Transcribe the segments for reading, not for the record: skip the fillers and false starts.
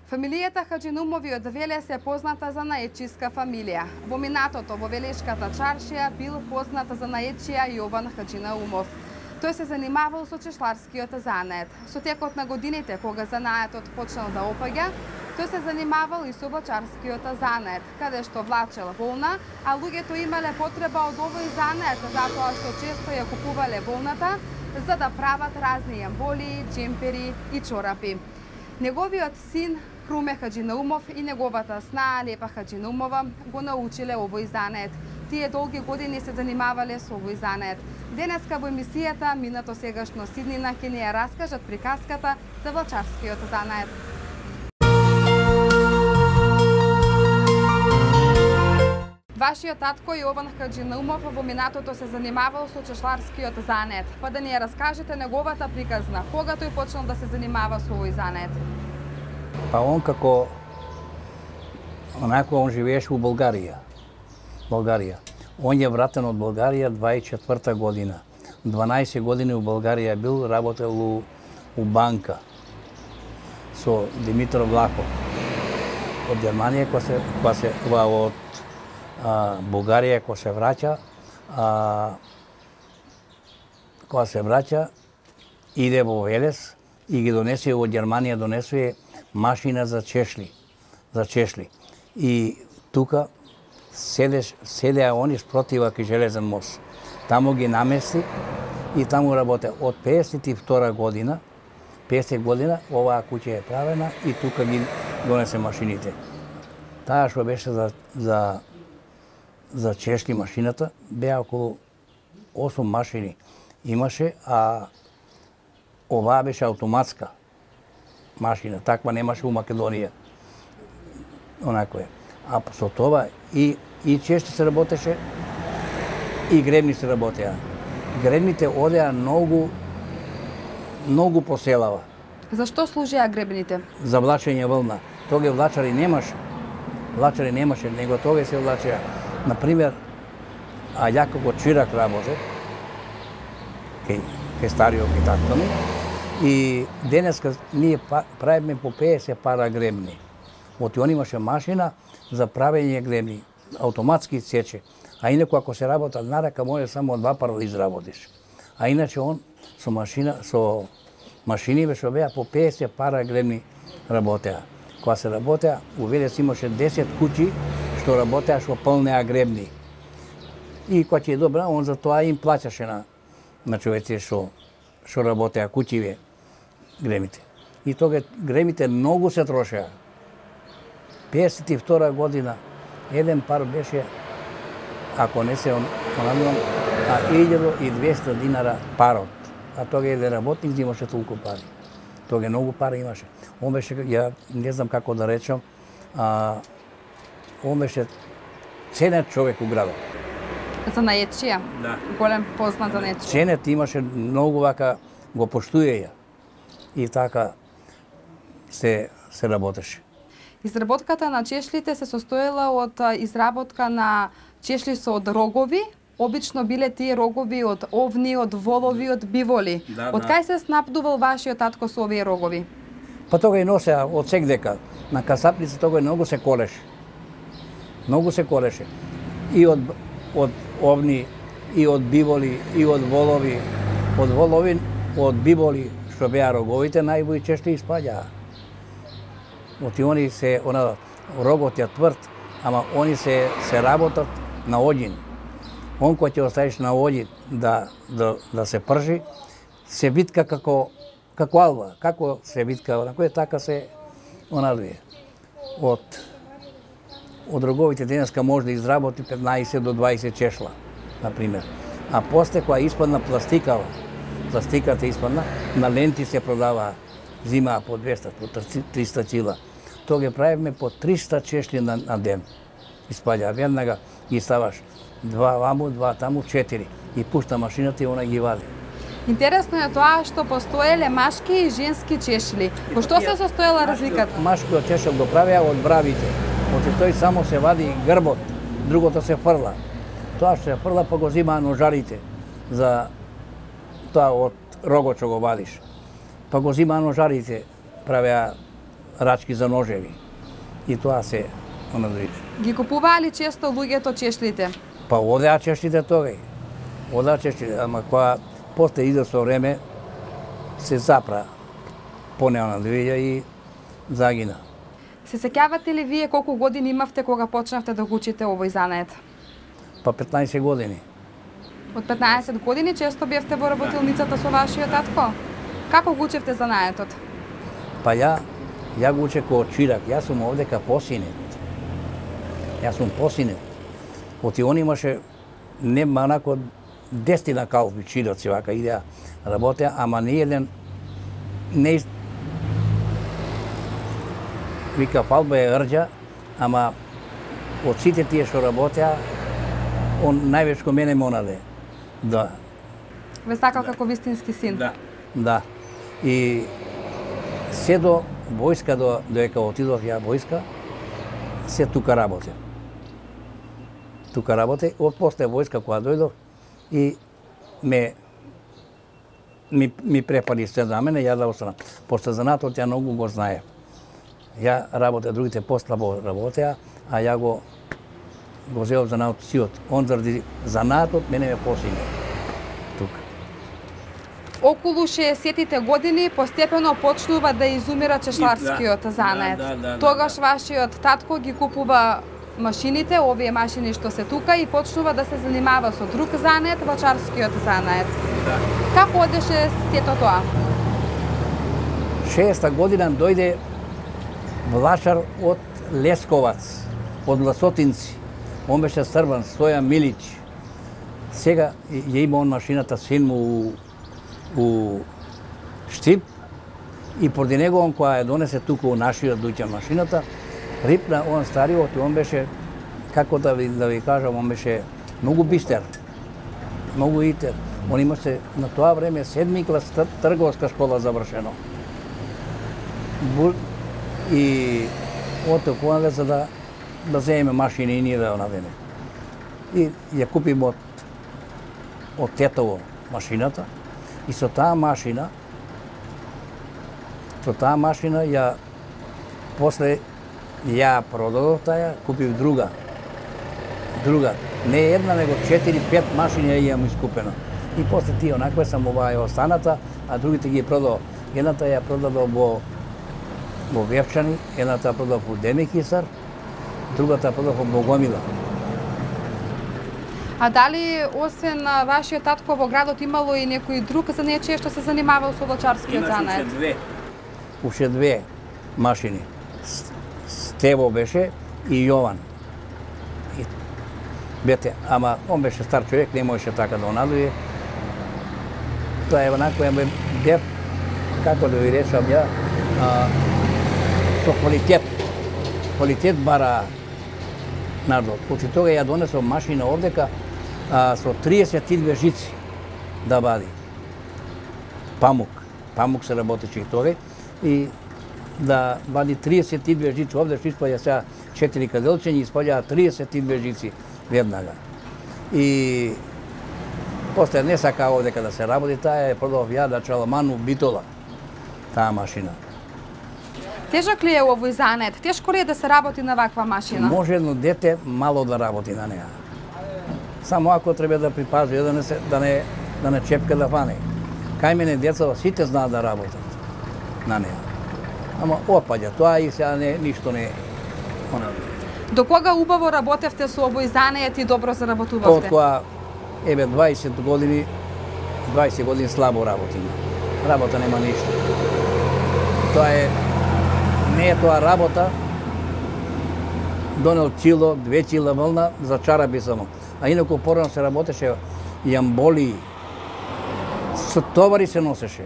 Фамилијата Хаџинумови од Велес е позната за наетчиска фамилија. Во минатото во Велешката чаршија бил познат за наетчија Јован Хаџинаумов. Тој се занимавал со чешларскиот занает. Со текот на годините, кога занаетот почнал да опаѓа, тој се занимавал и со влачарскиот занает, каде што влачел волна, а луѓето имале потреба од овој занает затоа што често ја купувале волната за да прават разни јамболи, джемпери и чорапи. Неговиот син Круме Хаџинаумов и неговата снаа Лепа Хаџинаумова го научиле овој занает. Тие долги години се занимавале со овој занает. Денеска во емисијата Минато сегашно Сиднина ќе ни ја раскажат приказката за влачарскиот занает. Вашиот татко Јован Хаџинаумов во минатото се занимавал со чешларскиот занает. Па да ни ја раскажете неговата приказна, кога тој почнал да се занимава со овој занает? Па он како он живееше у Българија. Он е вратен од Българија 24 година. 12 години у Българија бил, работел у банка со Димитар Влахов. Од Германија од Бугарија кога се враќа, иде во Велес и ги донесе од Германија донесува машина за чешли. И тука седеа они спротива кај железен мост. Таму ги намести и таму работе. Од 52 година, 50 година, оваа куќа е правена и тука ги донесе машините. Таа што беше за чешли машината, беа околу 8 машини имаше, а оваа беше автоматска машина, таква немаше у Македонија. Онако е. А со тоа и чешли се работеше, и гребни се работеа. Гребните одеа многу по селава. Зашто служеа гребните? За влачење вълна. Тога влачари немаше, него тога се влачеа. Например, а ја како чирак работе, кај стариот и татко ми, и денеска ние правиме по 50 пара гребни. Оти он имаше машина за правење гребни, автоматски сече. А инаку ако се работа на рака, може само 2 пара да изработиш. А иначе он со машини беше беа по 50 пара гребни работеа. Кога се работеа, у Велес имаше 10 куќи што работеа што пълнеа гребни. И кога ќе е добра, он за тоа им плаќаше на човеци што работеа куќиве гребните. И тога гребните многу се трошеа. 52 година еден пар беше, ако не се понадувам, 1200 динара парот. А тога еден работник имаше толку пари. Тога многу пари имаше. Он беше, ја не знам како да речам, он беше ценет човек у градот. За наетчија? Да. Голем познат за наетчија. Ценет имаше многу вака, го поштуе ја. И така се работеше. Изработката на чешлите се состоела од изработка на чешли со од рогови. Обично биле тие рогови од овни, од волови, од биволи. Од кај се снабдувал вашиот татко со овие рогови? Па тога и носеа од секдека. На касапница тога многу се колеше. И од овни, и од биволи, и од волови. Од волови, од биволи, што беа роговите, најбои чешли испаѓаа. Оти они се, рогот е тврд, ама они се работат на оѓин. Он кој ќе оставиш на оѓин да се пржи, се витка како алва, како се витка, на кој така се онадвие. Од роговите денеска може да изработи 15 до 20 чешла, например. А после која испадна пластиката испадна, на ленти се продаваа, зимаа по 200, по 300 кила. Тога правиме по 300 чешли на ден. Испаѓа, веднага ги ставаш 2 ваму, 2 таму, 4. И пушта машината и она ги вади. Интересно е тоа што постоеле машки и женски чешли. Во што се состоела разликата? Машкиот чешел го правеа од бравите. Оти тој само се вади грбот, другото се фрла. Тоа што се фрла па го зимаа ножарите за тоа од рогот што го вадиш. Па го зимаа ножарите, правеа рачки за ножеви. И тоа се онадвича. Ги купуваа ли често луѓето чешлите? Па одеа чешлите тогај. Одеа чешлите, ама кога после извесно време се запра поне онадвиѓа и загина. Се сеќавате ли вие колку години имавте кога почнавте да го учите овој занает? Па 15 години. Од 15 години често бевте во работилницата со вашиот татко? Како го учевте занаетот? Па ја го учев ко чирак. Јас сум овдека посинет. Јас сум посинет. Оти он имаше не манако 10 калфи чираци вака идеа работеа, ама не еден не вика фалба е рđа, ама од сите тие што работеа, он највеќе ко мене монаде. Да. Ве сакал како вистински син? Да. И се до војска, доека отидов ја војска, се тука работе. Тука работе, од после војска кога дојдов и ми препари се за мене, ја да останам. После занатот ја многу го знае. Ја работе, другите послабо работеа, а ја го зеов занатот сиот. Он заради занатот мене ме посине. Тука. Околу 60-тите години постепено почнува да изумира чешларскиот занает. Тогаш вашиот татко ги купува машините, овие машини што се тука, и почнува да се занимава со друг занает, вачарскиот занает. Како одеше сето тоа? 60-та година дојде влашар од Лесковац, од Ласотинци. Он беше Србан, Стојан Милич. Сега ја има он машината син му у Штип и поради него он која ја донесе тука у нашиот дуќан машината, рипна он стариот и он беше, како да ви кажам, он беше многу бистер, многу итер. Он имаше на тоа време 7 клас трговска школа завршено. И отоа кога за да земеме машини и ние да навеме. И ја купим од тетово машината и со таа машина ја после ја продадов таја, купив друга. Не една, него 4-5 машини ја имам искупено. И после тие онакве сам оваа останата, а другите ги продав. Едната ја продадов во Вевчани, едната продав во Демикисар, другата продав во Богомила. А дали освен вашиот татко во градот имало и некој друг занечие што се занимавал со влачарскиот занает? Уште две машини. Стево беше и Јован. Бете, ама он беше стар човек, не можеше така да онадуе. Тоа е онако бев, како да ви речам ја, со квалитет. Квалитет бара народ. Оти тога ја донесов машина овдека со 32 жици да вади. Памук се работеше и тоге. И да вади 32 жици овде, што испаѓа сега 4 каделчења, испаѓа 32 жици веднага. И после не сака овдека да се работи, таа е продав ја да Чаламану Битола, таа машина. Тежок ли е овој занет? Тешко ли е да се работи на ваква машина? Може едно дете мало да работи на неа. Само ако треба да припази, да не чепка да фане. Кај мене децата сите знаат да работат на неа. Ама опаѓа, тоа и сега ништо не е. До кога убаво работевте со овој занет и добро заработувавте? Од кога, 20 години слабо работиме. Работа нема ништо. Тоа е, не е тоа работа, донел чило, 2 чила вълна за чарапи само. А инаку порано се работеше јамболи, со товари се носеше.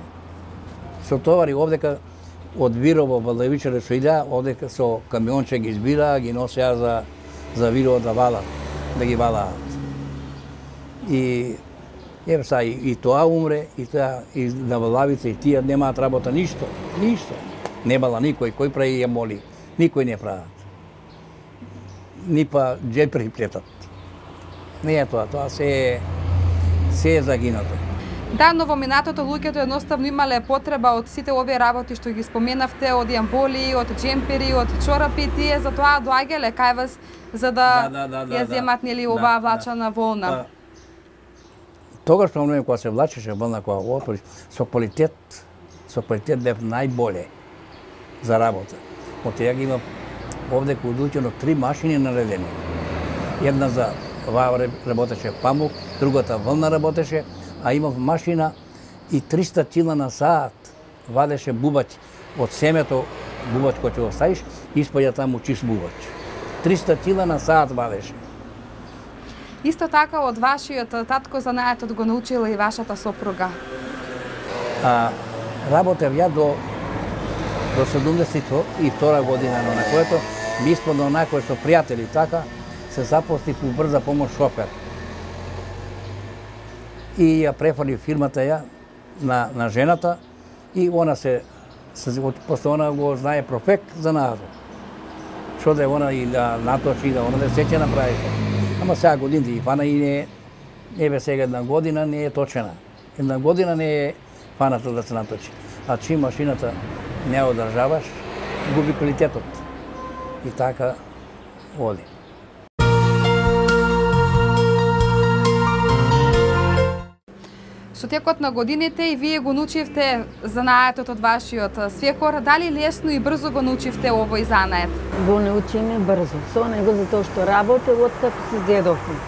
Со товари овдека од Вирово, Валдавичаре што идеа, овдека со камионче ги избираа, ги носеа за Вирово да валат, да ги валаат. И еве са и тоа умре, и тоа и на Валавица, и тие немаат работа ништо. Не бала никој, кој прави јамболи, никој не прават. Ни па джепри плетат. Не е тоа се е загинато. Да, но во минатото луѓето едноставно имале потреба од сите овие работи што ги споменавте, од јамболи, од джемпери, од чорапи, тие затоа доаѓале кај вас за да ја земат нели оваа влачана волна. Тогаш во време кога се влачеше волна, кога го отвори, со квалитет бев најболе за работа. Од теја ги имам овде кодучено 3 машини наредени. Една за оваа работеше памук, другата волна работеше, а имав машина и 300 кила на саат вадеше бубач од семето, бубач кој ќе го ставиш, испаѓа таму чист бубач. 300 кила на саат вадеше. Исто така од вашиот татко занаетот го научила и вашата сопруга. Работев ја до 72 година, но на което ми испадно накој со пријатели така, се запослив у брза помош шофер. И ја префали фирмата ја на жената и она после она го знае профект за наадо. Што да она и да наточи, да она да се ќе направише. Ама сега годините и фана и не бе сега една година не е точена. Една година не е фаната да се наточи. А чим машината не одржаваш, губи квалитетот. И така оди. Со текот на годините и вие го научивте занаетот од вашиот свекор, дали лесно и брзо го научивте овој занает? Го научиме брзо, со него затоа што работев од како се дедовме.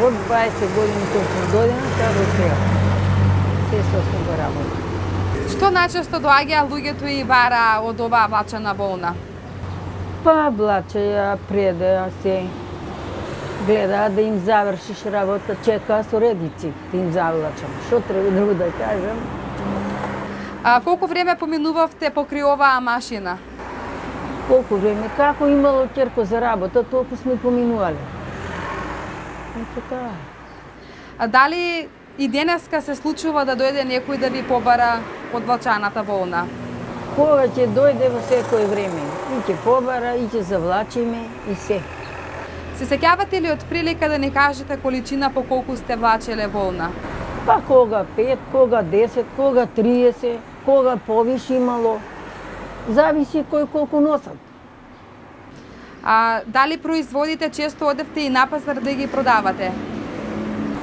Од 20 години точно година, така до сега. Се сме го работи. Што најчесто доаѓа луѓето и бара од оваа влачена волна? Па влачеја, предаја се. Гледа да им завршиш работа, чека со редици, да им завлачам. Што треба друго да кажам? Колку време поминувавте покрај оваа машина? Колку време? Како имало ќерко за работа, толку сме поминувале. Така. Дали и денеска се случува да дојде некој да ви побара од влачаната волна? Кога ќе дојде во секој време. И ќе побара, и ќе завлачиме, и се. Се сеќавате ли од прилика да ни кажете количина по колку сте влачеле волна? Па кога 5, кога 10, кога 30, кога повише имало. Зависи кој колку носат. Дали производите често одевте и на пазар да ги продавате?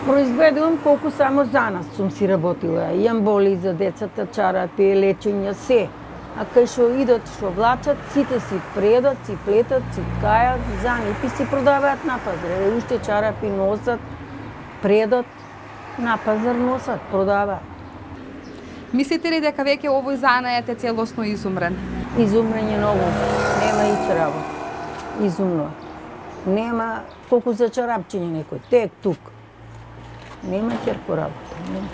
Произведувам колку само за нас сум си работила. Јамболи за децата, чарапи, лечења, се. А кај што идат, што влачат, сите си предат, си плетат, си ткајат, занипи си продаваат на пазар. Уште чарапи носат, предат, на пазар носат, продаваат. Мислите ли дека веќе овој занает е целосно изумрен? Изумрен е ново. Нема ич работа. Изумно. Нема колку за чарапчиње некој. Тек тук. Нема ќерко работа. Нема.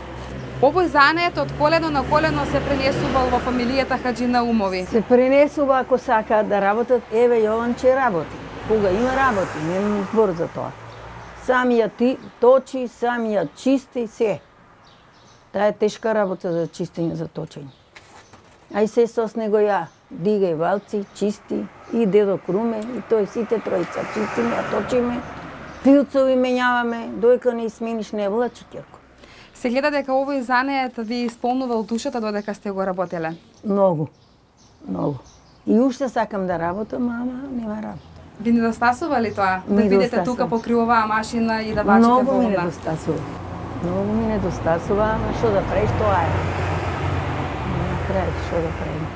Овој занает од колено на колено се пренесувал во фамилијата Хаџинаумови. Се пренесува ако сакаат да работат, еве Јованче работи. Кога има работи, нема збор за тоа. Сам ја точи, сам ја чисти, се. Таа е тешка работа за чистење, за точење. А и се сос него ја, дигај валци, чисти, и дедо Круме, и тој сите тројца чистиме, ја точиме, пилцови менјаваме, дојка не смениш не влачи ќерко. Се гледа дека овој занает ви исполнувал душата додека сте го работеле? Многу, многу. И уште сакам да работам, ама нема работа. Ви недостасува ли тоа? Да бидете тука покрај оваа машина и да влачите волна? Многу ми недостасува. Многу ми недостасува, ама што да правиш, тоа е. На крај, што да правим.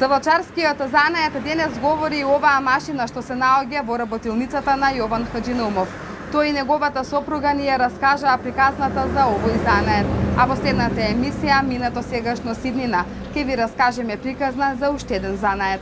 За влачарскиот занает денес говори и оваа машина што се наоѓа во работилницата на Јован Хаџинаумов. Тој и неговата сопруга ни ја раскажаа приказната за овој занает. А во следната емисија, минато сегашно Сиднина, ќе ви раскажеме приказна за уште еден занает.